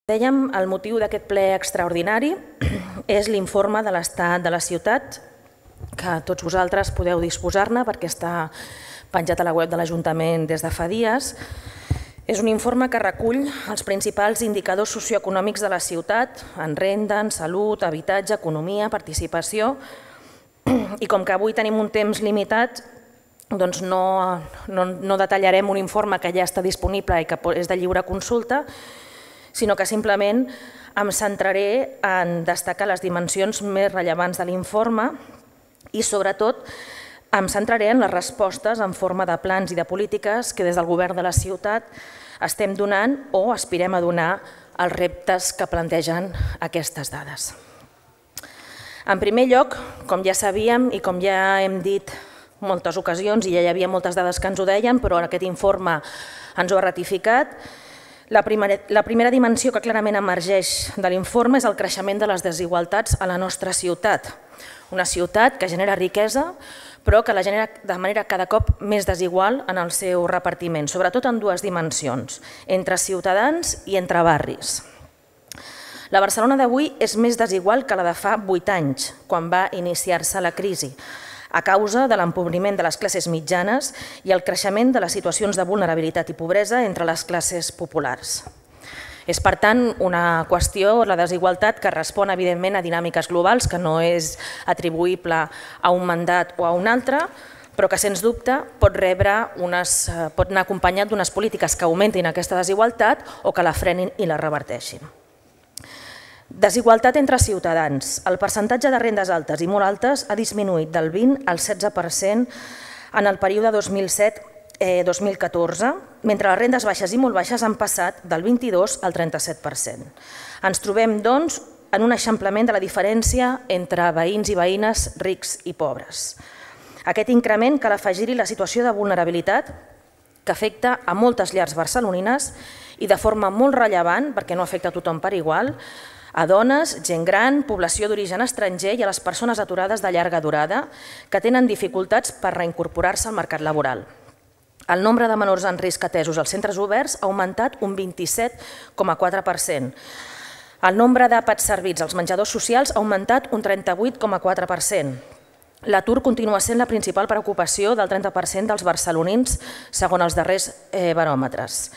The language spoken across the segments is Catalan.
Dèiem, el motiu d'aquest ple extraordinari és l'informe de l'estat de la ciutat, que tots vosaltres podeu disposar-ne perquè està penjat a la web de l'Ajuntament des de fa dies. És un informe que recull els principals indicadors socioeconòmics de la ciutat en renda, en salut, habitatge, economia, participació. I com que avui tenim un temps limitat, doncs no detallarem un informe que ja està disponible i que és de lliure consulta, sinó que simplement em centraré en destacar les dimensions més rellevants de l'informe i, sobretot, em centraré en les respostes en forma de plans i de polítiques que des del govern de la ciutat estem donant o aspirem a donar als reptes que plantegen aquestes dades. En primer lloc, com ja sabíem i com ja hem dit moltes ocasions, i ja hi havia moltes dades que ens ho deien, però aquest informe ens ho ha ratificat, la primera dimensió que clarament emergeix de l'informe és el creixement de les desigualtats a la nostra ciutat. Una ciutat que genera riquesa, però que la genera de manera cada cop més desigual en el seu repartiment, sobretot en dues dimensions, entre ciutadans i entre barris. La Barcelona d'avui és més desigual que la de fa 8 anys, quan va iniciar-se la crisi, a causa de l'empobriment de les classes mitjanes i el creixement de les situacions de vulnerabilitat i pobresa entre les classes populars. És, per tant, una qüestió, la desigualtat, que respon, evidentment, a dinàmiques globals, que no és atribuïble a un mandat o a un altre, però que, sens dubte, pot anar acompanyat d'unes polítiques que augmentin aquesta desigualtat o que la frenin i la reverteixin. Desigualtat entre ciutadans. El percentatge de rendes altes i molt altes ha disminuït del 20 al 16% en el període 2007-2014, mentre les rendes baixes i molt baixes han passat del 22 al 37%. Ens trobem, doncs, en un eixamplament de la diferència entre veïns i veïnes rics i pobres. Aquest increment cal afegir-hi la situació de vulnerabilitat que afecta a moltes llars barcelonines i de forma molt rellevant, perquè no afecta a tothom per igual, a dones, gent gran, població d'origen estranger i a les persones aturades de llarga durada que tenen dificultats per reincorporar-se al mercat laboral. El nombre de menors en risc atesos als centres oberts ha augmentat un 27,4%. El nombre d'àpats servits als menjadors socials ha augmentat un 38,4%. L'atur continua sent la principal preocupació del 30% dels barcelonins, segons els darrers baròmetres.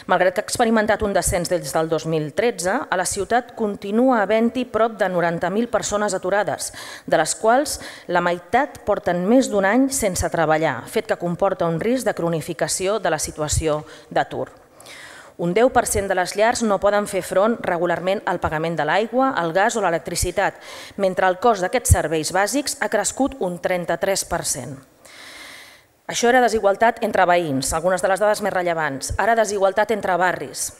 Malgrat que ha experimentat un descens des del 2013, a la ciutat continua havent-hi prop de 90.000 persones aturades, de les quals la meitat porten més d'un any sense treballar, fet que comporta un risc de cronificació de la situació d'atur. Un 10% de les llars no poden fer front regularment al pagament de l'aigua, el gas o l'electricitat, mentre el cost d'aquests serveis bàsics ha crescut un 33%. Això era desigualtat entre veïns, algunes de les dades més rellevants. Ara desigualtat entre barris.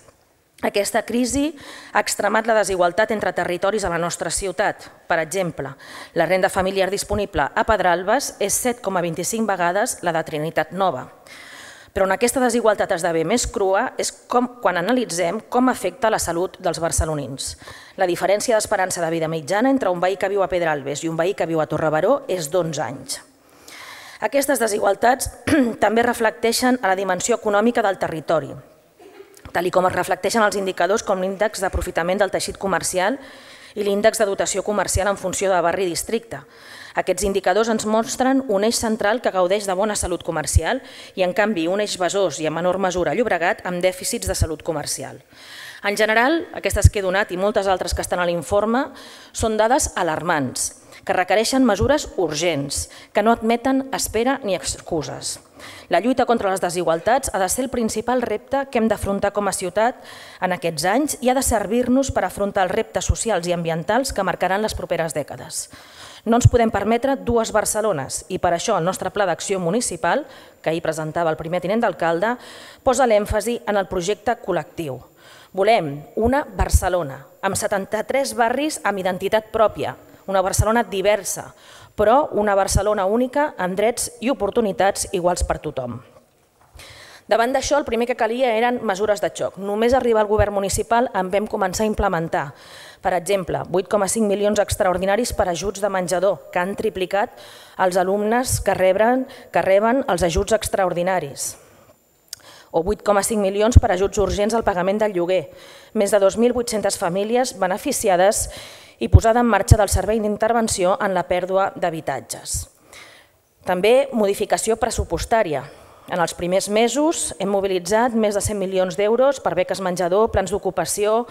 Aquesta crisi ha extremat la desigualtat entre territoris a la nostra ciutat. Per exemple, la renda familiar disponible a Pedralbes és 7,25 vegades la de Trinitat Nova. Però on aquesta desigualtat esdevé més crua és quan analitzem com afecta la salut dels barcelonins. La diferència d'esperança de vida mitjana entre un veí que viu a Pedralbes i un veí que viu a Torrebaró és d'11 anys. Aquestes desigualtats també reflecteixen a la dimensió econòmica del territori, tal com es reflecteixen els indicadors com l'índex d'aprofitament del teixit comercial i l'índex de dotació comercial en funció de barri i districte. Aquests indicadors ens mostren un eix central que gaudeix de bona salut comercial i, en canvi, un eix Besòs i, en menor mesura, Llobregat, amb dèficits de salut comercial. En general, aquestes que he donat i moltes altres que estan a l'informe són dades alarmants, que requereixen mesures urgents, que no admeten espera ni excuses. La lluita contra les desigualtats ha de ser el principal repte que hem d'afrontar com a ciutat en aquests anys i ha de servir-nos per afrontar els reptes socials i ambientals que marcaran les properes dècades. No ens podem permetre dues Barcelones i per això el nostre pla d'acció municipal, que ahir presentava el primer tinent d'alcalde, posa l'èmfasi en el projecte col·lectiu. Volem una Barcelona amb 73 barris amb identitat pròpia, una Barcelona diversa, però una Barcelona única amb drets i oportunitats iguals per tothom. Davant d'això, el primer que calia eren mesures de xoc. Només arribar al govern municipal en vam començar a implementar. Per exemple, 8,5 milions extraordinaris per ajuts de menjador, que han triplicat els alumnes que reben els ajuts extraordinaris. o 8,5 milions per ajuts urgents al pagament del lloguer, més de 2.800 famílies beneficiades i posada en marxa del servei d'intervenció en la pèrdua d'habitatges. També modificació pressupostària. En els primers mesos hem mobilitzat més de 100 milions d'euros per beques menjador, plans d'ocupació,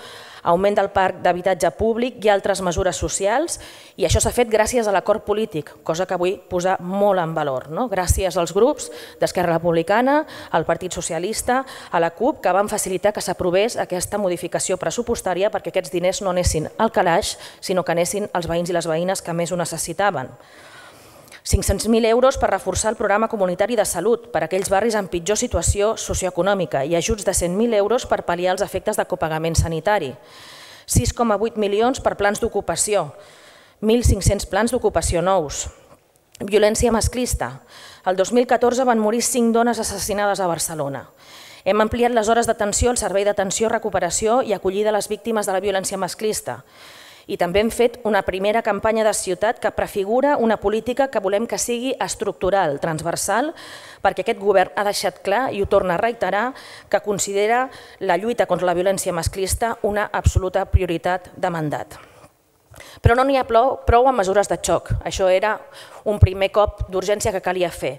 augment del parc d'habitatge públic i altres mesures socials, i això s'ha fet gràcies a l'acord polític, cosa que vull posar molt en valor, gràcies als grups d'Esquerra Republicana, al Partit Socialista, a la CUP, que van facilitar que s'aprovés aquesta modificació pressupostària perquè aquests diners no anessin al calaix, sinó que anessin als veïns i les veïnes que més ho necessitaven. 500.000 euros per reforçar el programa comunitari de salut per a aquells barris en pitjor situació socioeconòmica i ajuts de 100.000 euros per pal·liar els efectes de copagament sanitari. 6,8 milions per plans d'ocupació, 1.500 plans d'ocupació nous. Violència masclista. El 2014 van morir 5 dones assassinades a Barcelona. Hem ampliat les hores d'atenció al servei d'atenció, recuperació i acollida a les víctimes de la violència masclista. I també hem fet una primera campanya de ciutat que prefigura una política que volem que sigui estructural, transversal, perquè aquest govern ha deixat clar, i ho torna a reiterar, que considera la lluita contra la violència masclista una absoluta prioritat de mandat. Però no n'hi ha prou amb mesures de xoc. Això era un primer cop d'urgència que calia fer.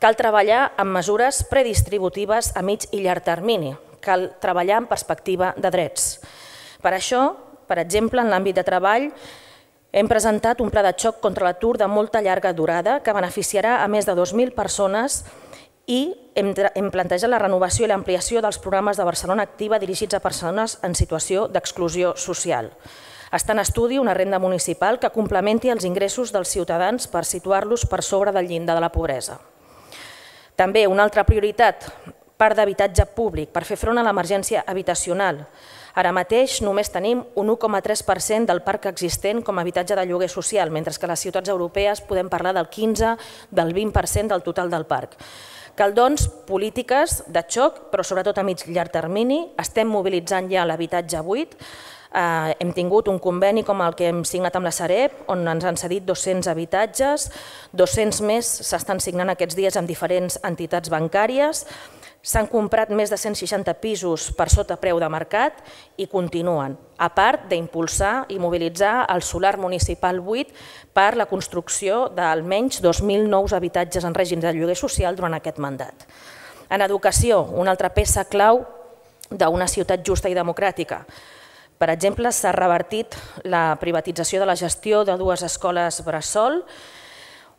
Cal treballar amb mesures predistributives a mig i llarg termini. Cal treballar en perspectiva de drets. Per això, per exemple, en l'àmbit de treball, hem presentat un pla de xoc contra l'atur de molta llarga durada que beneficiarà a més de 2.000 persones i hem plantejat la renovació i l'ampliació dels programes de Barcelona Activa dirigits a persones en situació d'exclusió social. Està en estudi una renda municipal que complementi els ingressos dels ciutadans per situar-los per sobre del llindar de la pobresa. També una altra prioritat, parc d'habitatge públic per fer front a l'emergència habitacional. Ara mateix només tenim un 1,3% del parc existent com a habitatge de lloguer social, mentre que a les ciutats europees podem parlar del 15, del 20% del total del parc. Cal, doncs, polítiques de xoc, però sobretot a mig i llarg termini. Estem mobilitzant ja l'habitatge buit. Hem tingut un conveni com el que hem signat amb la Sareb, on ens han cedit 200 habitatges, 200 més s'estan signant aquests dies amb diferents entitats bancàries. S'han comprat més de 160 pisos per sota preu de mercat i continuen, a part d'impulsar i mobilitzar el solar municipal buit per la construcció d'almenys 2.000 nous habitatges en règim de lloguer social durant aquest mandat. En educació, una altra peça clau d'una ciutat justa i democràtica. Per exemple, s'ha revertit la privatització de la gestió de 2 escoles bressol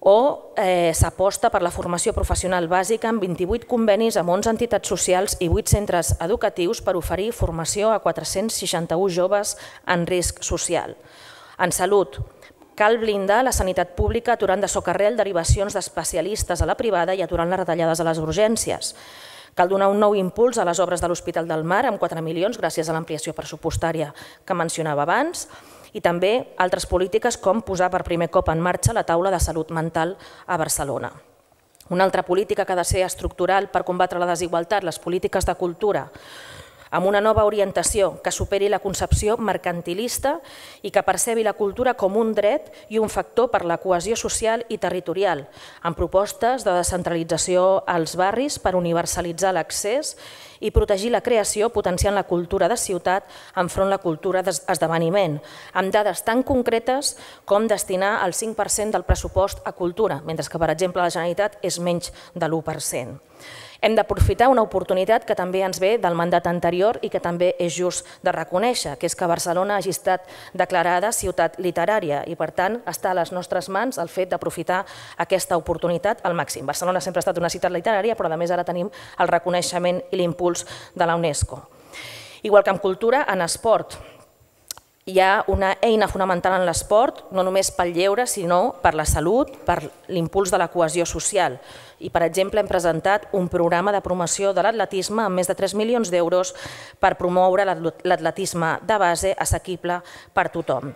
o s'aposta per la formació professional bàsica amb 28 convenis amb 11 entitats socials i 8 centres educatius per oferir formació a 461 joves en risc social. En salut, cal blindar la sanitat pública aturant de socarrel derivacions d'especialistes a la privada i aturant les retallades a les urgències. Cal donar un nou impuls a les obres de l'Hospital del Mar amb 4 milions gràcies a l'ampliació pressupostària que mencionava abans, i també altres polítiques com posar per primer cop en marxa la taula de salut mental a Barcelona. Una altra política que ha de ser estructural per combatre la desigualtat, les polítiques de cultura, amb una nova orientació que superi la concepció mercantilista i que percebi la cultura com un dret i un factor per la cohesió social i territorial, amb propostes de descentralització als barris per universalitzar l'accés i protegir la creació potenciant la cultura de ciutat enfront la cultura d'esdeveniment, amb dades tan concretes com destinar el 5% del pressupost a cultura, mentre que, per exemple, la Generalitat és menys de l'1%. Hem d'aprofitar una oportunitat que també ens ve del mandat anterior i que també és just de reconèixer, que és que Barcelona hagi estat declarada ciutat literària i, per tant, està a les nostres mans el fet d'aprofitar aquesta oportunitat al màxim. Barcelona sempre ha estat una ciutat literària, però a més ara tenim el reconeixement i l'impuls de la UNESCO. Igual que en cultura, en esport. Hi ha una eina fonamental en l'esport, no només pel lleure, sinó per la salut, per l'impuls de la cohesió social. I, per exemple, hem presentat un programa de promoció de l'atletisme amb més de 3 milions d'euros per promoure l'atletisme de base assequible per tothom.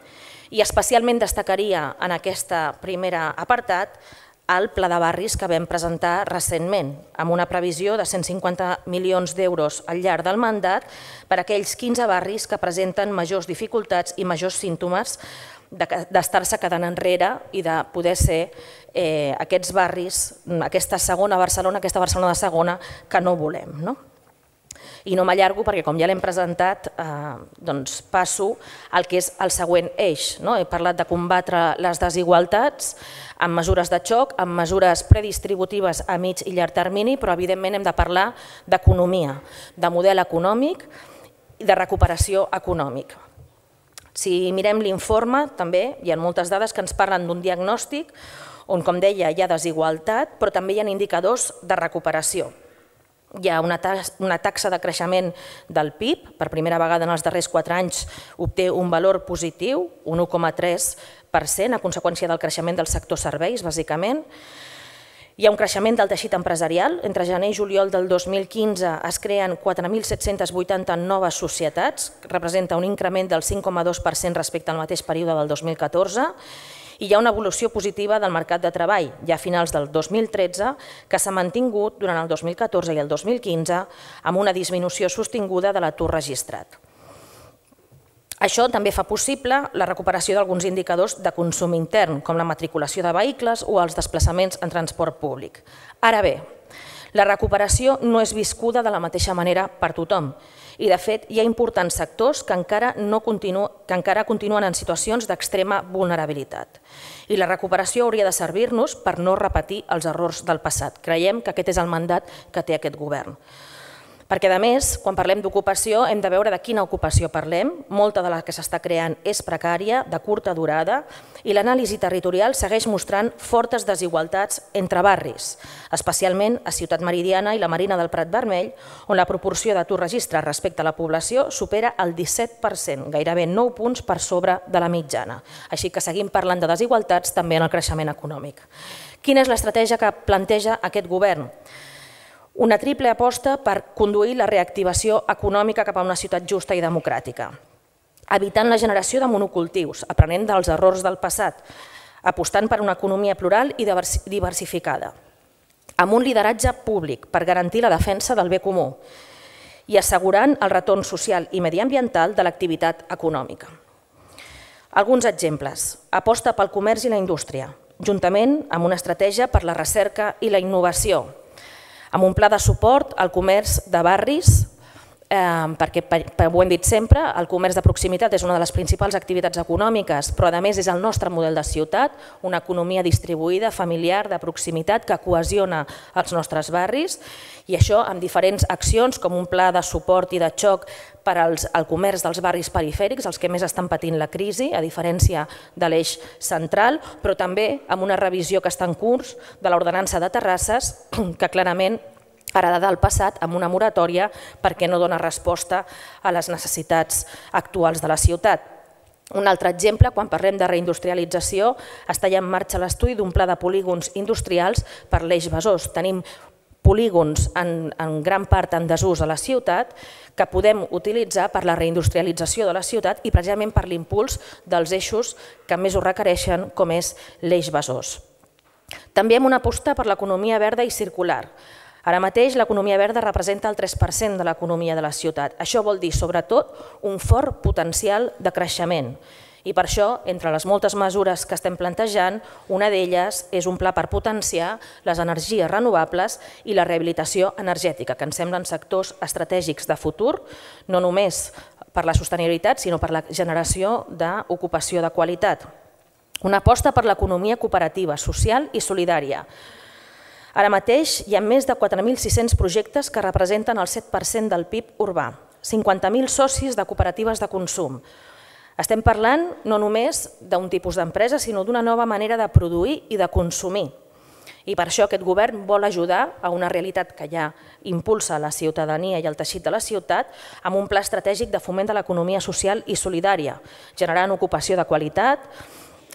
I especialment destacaria en aquest primer apartat el pla de barris que vam presentar recentment, amb una previsió de 150 milions d'euros al llarg del mandat per a aquells 15 barris que presenten majors dificultats i majors símptomes d'estar-se quedant enrere i de poder ser aquests barris, aquesta segona Barcelona, aquesta Barcelona de segona que no volem. I no m'allargo perquè, com ja l'hem presentat, passo al que és el següent eix. He parlat de combatre les desigualtats amb mesures de xoc, amb mesures predistributives a mig i llarg termini, però evidentment hem de parlar d'economia, de model econòmic i de recuperació econòmica. Si mirem l'informe, també hi ha moltes dades que ens parlen d'un diagnòstic on, com deia, hi ha desigualtat, però també hi ha indicadors de recuperació. Hi ha una taxa de creixement del PIB, per primera vegada en els darrers 4 anys obté un valor positiu, un 1,3%, a conseqüència del creixement del sector serveis, bàsicament. Hi ha un creixement del teixit empresarial. Entre gener i juliol del 2015 es creen 4.780 noves societats, representa un increment del 5,2% respecte al mateix període del 2014, i hi ha una evolució positiva del mercat de treball, ja a finals del 2013, que s'ha mantingut durant el 2014 i el 2015 amb una disminució sostinguda de l'atur registrat. Això també fa possible la recuperació d'alguns indicadors de consum intern, com la matriculació de vehicles o els desplaçaments en transport públic. Ara bé, la recuperació no és viscuda de la mateixa manera per tothom. I, de fet, hi ha importants sectors que encara continuen en situacions d'extrema vulnerabilitat. I la recuperació hauria de servir-nos per no repetir els errors del passat. Creiem que aquest és el mandat que té aquest govern. Perquè, a més, quan parlem d'ocupació, hem de veure de quina ocupació parlem. Molta de la que s'està creant és precària, de curta durada, i l'anàlisi territorial segueix mostrant fortes desigualtats entre barris, especialment a Ciutat Meridiana i la Marina del Prat Vermell, on la proporció d'atur registrat respecte a la població supera el 17%, gairebé 9 punts per sobre de la mitjana. Així que seguim parlant de desigualtats també en el creixement econòmic. Quina és l'estratègia que planteja aquest govern? Una triple aposta per conduir la reactivació econòmica cap a una ciutat justa i democràtica, evitant la generació de monocultius, aprenent dels errors del passat, apostant per una economia plural i diversificada, amb un lideratge públic per garantir la defensa del bé comú i assegurant el retorn social i mediambiental de l'activitat econòmica. Alguns exemples. Aposta pel comerç i la indústria, juntament amb una estratègia per la recerca i la innovació, amb un pla de suport al comerç de barris, perquè, ho hem dit sempre, el comerç de proximitat és una de les principals activitats econòmiques, però a més és el nostre model de ciutat, una economia distribuïda, familiar, de proximitat, que cohesiona els nostres barris, i això amb diferents accions, com un pla de suport i de xoc per al comerç dels barris perifèrics, els que més estan patint la crisi, a diferència de l'eix central, però també amb una revisió que està en curs de l'ordenança de terrasses, que clarament heredada del passat, amb una moratòria perquè no dona resposta a les necessitats actuals de la ciutat. Un altre exemple, quan parlem de reindustrialització, està ja en marxa l'estudi d'un pla de polígons industrials per l'eix Besòs. Tenim polígons en gran part en desús a la ciutat que podem utilitzar per la reindustrialització de la ciutat i precisament per l'impuls dels eixos que més ho requereixen, com és l'eix Besòs. També hem una aposta per l'economia verda i circular. Ara mateix l'economia verda representa el 3% de l'economia de la ciutat. Això vol dir, sobretot, un fort potencial de creixement. I per això, entre les moltes mesures que estem plantejant, una d'elles és un pla per potenciar les energies renovables i la rehabilitació energètica, que ens semblen sectors estratègics de futur, no només per la sostenibilitat, sinó per la generació d'ocupació de qualitat. Una aposta per l'economia cooperativa, social i solidària. Ara mateix hi ha més de 4.600 projectes que representen el 7% del PIB urbà, 50.000 socis de cooperatives de consum. Estem parlant no només d'un tipus d'empresa, sinó d'una nova manera de produir i de consumir. I per això aquest govern vol ajudar a una realitat que ja impulsa la ciutadania i el teixit de la ciutat amb un pla estratègic de foment de l'economia social i solidària, generant ocupació de qualitat,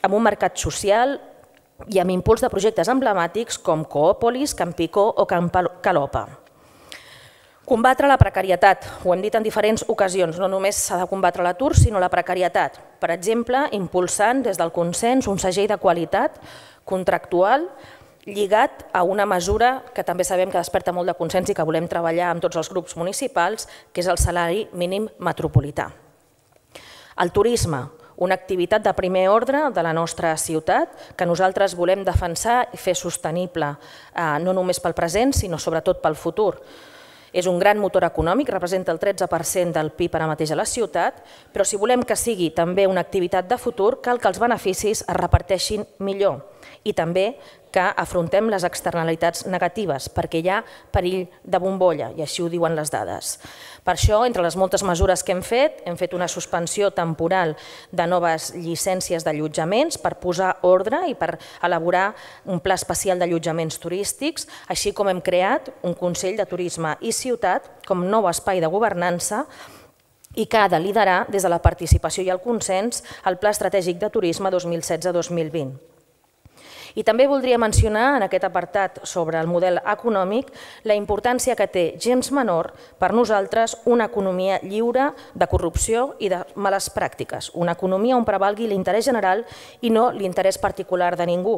amb un mercat social i amb impuls de projectes emblemàtics com Coòpolis, Campicó o Calopa. Combatre la precarietat, ho hem dit en diferents ocasions, no només s'ha de combatre l'atur, sinó la precarietat. Per exemple, impulsant des del consens un segell de qualitat contractual lligat a una mesura que també sabem que desperta molt de consens i que volem treballar amb tots els grups municipals, que és el salari mínim metropolità. El turisme, una activitat de primer ordre de la nostra ciutat que nosaltres volem defensar i fer sostenible no només pel present, sinó sobretot pel futur. És un gran motor econòmic, representa el 13% del PIB ara mateix a la ciutat, però si volem que sigui també una activitat de futur, cal que els beneficis es reparteixin millor i també que afrontem les externalitats negatives, perquè hi ha perill de bombolla, i així ho diuen les dades. Per això, entre les moltes mesures que hem fet una suspensió temporal de noves llicències d'allotjaments per posar ordre i per elaborar un pla especial d'allotjaments turístics, així com hem creat un Consell de Turisme i Ciutat com nou espai de governança i que ha de liderar des de la participació i el consens el Pla Estratègic de Turisme 2016-2020. I també voldria mencionar en aquest apartat sobre el model econòmic la importància que té gens menor per nosaltres una economia lliure de corrupció i de males pràctiques, una economia on prevalgui l'interès general i no l'interès particular de ningú.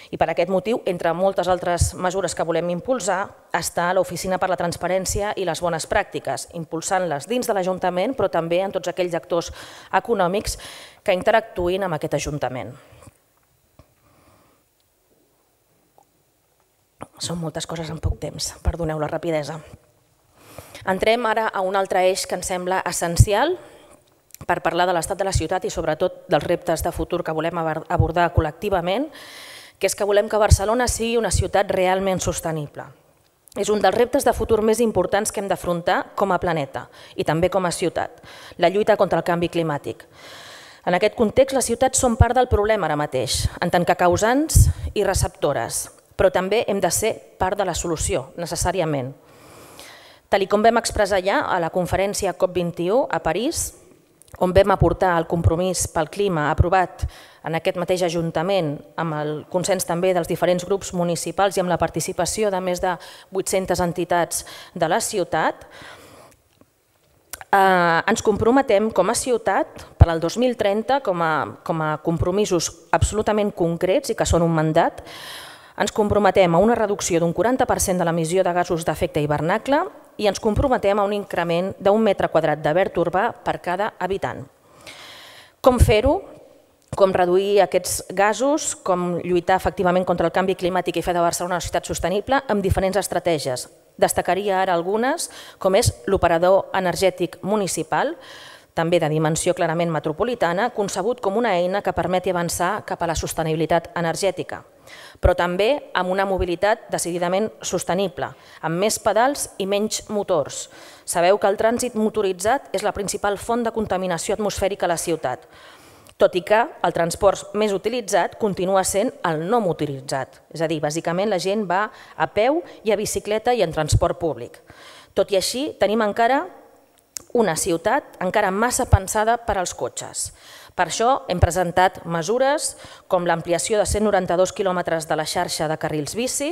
I per aquest motiu, entre moltes altres mesures que volem impulsar, està l'Oficina per la Transparència i les Bones Pràctiques, impulsant-les dins de l'Ajuntament, però també en tots aquells actors econòmics que interactuïn amb aquest Ajuntament. Són moltes coses en poc temps, perdoneu la rapidesa. Entrem ara a un altre eix que ens sembla essencial per parlar de l'estat de la ciutat i sobretot dels reptes de futur que volem abordar col·lectivament, que és que volem que Barcelona sigui una ciutat realment sostenible. És un dels reptes de futur més importants que hem d'afrontar com a planeta i també com a ciutat, la lluita contra el canvi climàtic. En aquest context, les ciutats són part del problema ara mateix, en tant que causants i receptores, però també hem de ser part de la solució, necessàriament. Tal com vam expressar ja a la conferència COP21 a París, on vam aportar el compromís pel clima aprovat en aquest mateix Ajuntament, amb el consens també dels diferents grups municipals i amb la participació de més de 800 entitats de la ciutat, ens comprometem com a ciutat per al 2030 com a compromisos absolutament concrets i que són un mandat. Ens comprometem a una reducció d'un 40% de l'emissió de gasos d'efecte hivernacle i ens comprometem a un increment d'1 metre quadrat de verd urbà per cada habitant. Com fer-ho? Com reduir aquests gasos, com lluitar efectivament contra el canvi climàtic i fer de Barcelona una ciutat sostenible amb diferents estratègies. Destacaria ara algunes, com és l'operador energètic municipal, també de dimensió clarament metropolitana, concebut com una eina que permeti avançar cap a la sostenibilitat energètica, però també amb una mobilitat decididament sostenible, amb més pedals i menys motors. Sabeu que el trànsit motoritzat és la principal font de contaminació atmosfèrica a la ciutat, tot i que el transport més utilitzat continua sent el no motoritzat, és a dir, bàsicament la gent va a peu i a bicicleta i en transport públic. Tot i així, tenim encara una ciutat encara massa pensada per als cotxes. Per això hem presentat mesures com l'ampliació de 192 quilòmetres de la xarxa de carrils bici,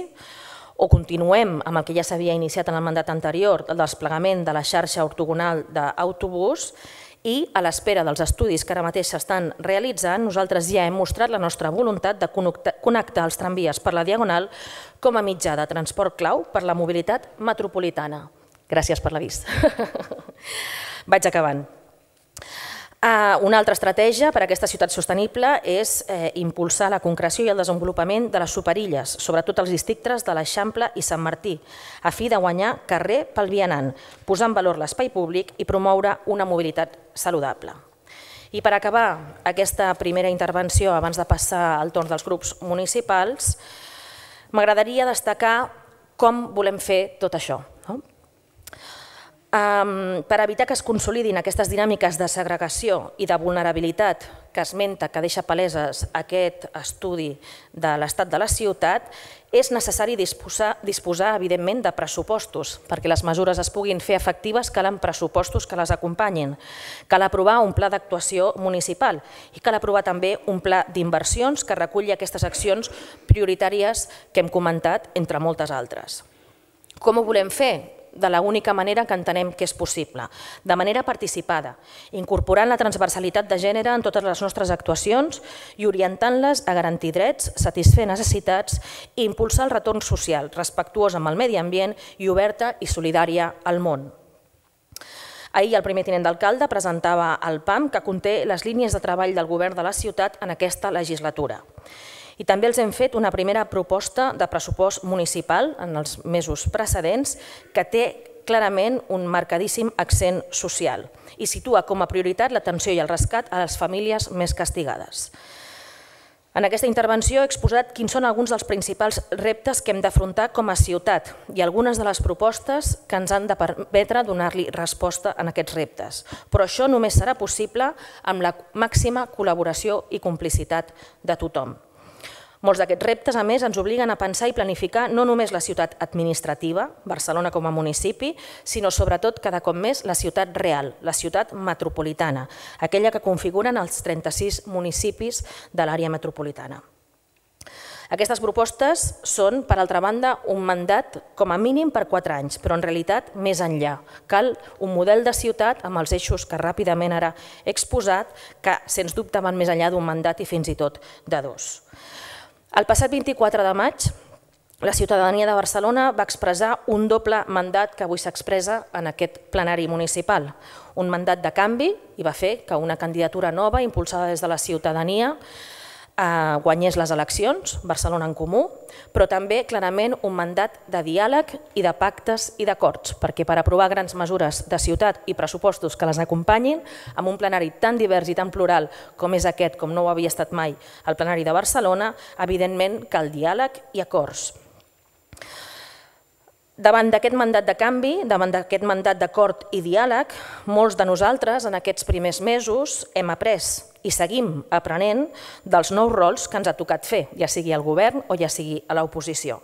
o continuem amb el que ja s'havia iniciat en el mandat anterior, el desplegament de la xarxa ortogonal d'autobús, i a l'espera dels estudis que ara mateix s'estan realitzant, nosaltres ja hem mostrat la nostra voluntat de connectar els tramvies per la Diagonal com a mitjà de transport clau per la mobilitat metropolitana. Gràcies per l'avís. Vaig acabant. Una altra estratègia per a aquesta ciutat sostenible és impulsar la concreció i el desenvolupament de les superilles, sobretot als districtes de l'Eixample i Sant Martí, a fi de guanyar carrer pel vianant, posar en valor l'espai públic i promoure una mobilitat saludable. I per acabar aquesta primera intervenció, abans de passar al torn dels grups municipals, m'agradaria destacar com volem fer tot això. Per evitar que es consolidin aquestes dinàmiques de segregació i de vulnerabilitat que esmenta, que deixa paleses aquest estudi de l'estat de la ciutat, és necessari disposar, evidentment, de pressupostos. Perquè les mesures es puguin fer efectives, calen pressupostos que les acompanyin. Cal aprovar un pla d'actuació municipal i cal aprovar també un pla d'inversions que reculli aquestes accions prioritàries que hem comentat, entre moltes altres. Com ho volem fer? De l'única manera que entenem que és possible, de manera participada, incorporant la transversalitat de gènere en totes les nostres actuacions i orientant-les a garantir drets, satisfer necessitats i impulsar el retorn social, respectuós amb el medi ambient i oberta i solidària al món. Ahir el primer tinent d'alcalde presentava el PAM que conté les línies de treball del govern de la ciutat en aquesta legislatura. I també els hem fet una primera proposta de pressupost municipal en els mesos precedents que té clarament un marcadíssim accent social i situa com a prioritat l'atenció i el rescat a les famílies més castigades. En aquesta intervenció he exposat quins són alguns dels principals reptes que hem d'afrontar com a ciutat i algunes de les propostes que ens han de permetre donar-li resposta a aquests reptes. Però això només serà possible amb la màxima col·laboració i complicitat de tothom. Molts d'aquests reptes, a més, ens obliguen a pensar i planificar no només la ciutat administrativa, Barcelona com a municipi, sinó sobretot cada cop més la ciutat real, la ciutat metropolitana, aquella que configuren els 36 municipis de l'àrea metropolitana. Aquestes propostes són, per altra banda, un mandat com a mínim per 4 anys, però en realitat més enllà. Cal un model de ciutat amb els eixos que ràpidament ara he exposat, que sens dubte van més enllà d'un mandat i fins i tot de 2. El passat 24 de maig, la ciutadania de Barcelona va expressar un doble mandat que avui s'expressa en aquest plenari municipal. Un mandat de canvi i va fer que una candidatura nova impulsada des de la ciutadania guanyés les eleccions, Barcelona en Comú, però també clarament un mandat de diàleg i de pactes i d'acords, perquè per aprovar grans mesures de ciutat i pressupostos que les acompanyin, amb un plenari tan divers i tan plural com és aquest, com no ho havia estat mai el plenari de Barcelona, evidentment cal diàleg i acords. Davant d'aquest mandat de canvi, davant d'aquest mandat d'acord i diàleg, molts de nosaltres en aquests primers mesos hem après i seguim aprenent dels nous rols que ens ha tocat fer, ja sigui al govern o ja sigui a l'oposició.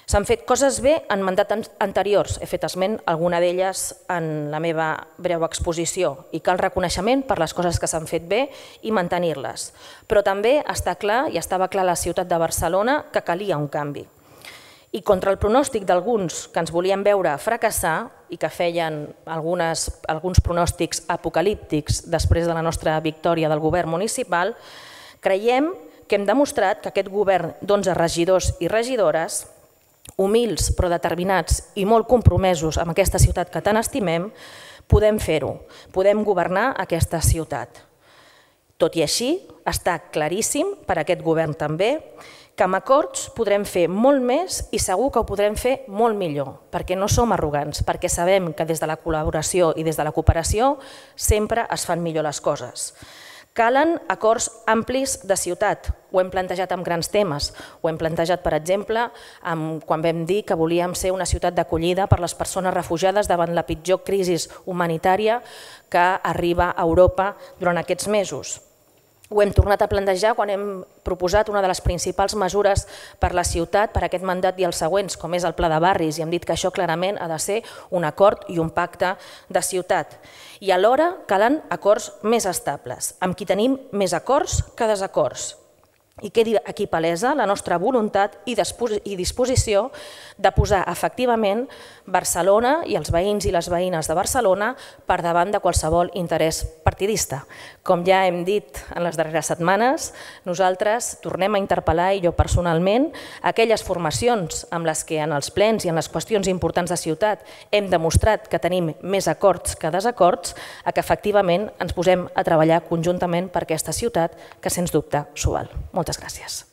S'han fet coses bé en mandats anteriors, he fet esment alguna d'elles en la meva breu exposició i cal reconeixement per les coses que s'han fet bé i mantenir-les. Però també està clar i estava clar a la ciutat de Barcelona que calia un canvi. I contra el pronòstic d'alguns que ens volien veure fracassar i que feien alguns pronòstics apocalíptics després de la nostra victòria del govern municipal, creiem que hem demostrat que aquest govern d'11 regidors i regidores, humils però determinats i molt compromesos amb aquesta ciutat que tant estimem, podem fer-ho, podem governar aquesta ciutat. Tot i així, està claríssim per a aquest govern també que amb acords podrem fer molt més i segur que ho podrem fer molt millor, perquè no som arrogants, perquè sabem que des de la col·laboració i des de la cooperació sempre es fan millor les coses. Calen acords amplis de ciutat, ho hem plantejat amb grans temes, ho hem plantejat, per exemple, quan vam dir que volíem ser una ciutat d'acollida per les persones refugiades davant la pitjor crisi humanitària que arriba a Europa durant aquests mesos. Ho hem tornat a plantejar quan hem proposat una de les principals mesures per la ciutat, per aquest mandat i els següents, com és el Pla de Barris, i hem dit que això clarament ha de ser un acord i un pacte de ciutat. I alhora calen acords més estables, amb qui tenim més acords que desacords. I quedi aquí palesa la nostra voluntat i disposició de posar efectivament Barcelona i els veïns i les veïnes de Barcelona per davant de qualsevol interès partidista. Com ja hem dit en les darreres setmanes, nosaltres tornem a interpel·lar, i jo personalment, aquelles formacions amb les que en els plens i en les qüestions importants de ciutat hem demostrat que tenim més acords que desacords, a que efectivament ens posem a treballar conjuntament per aquesta ciutat que sens dubte s'ho val. Moltes gràcies.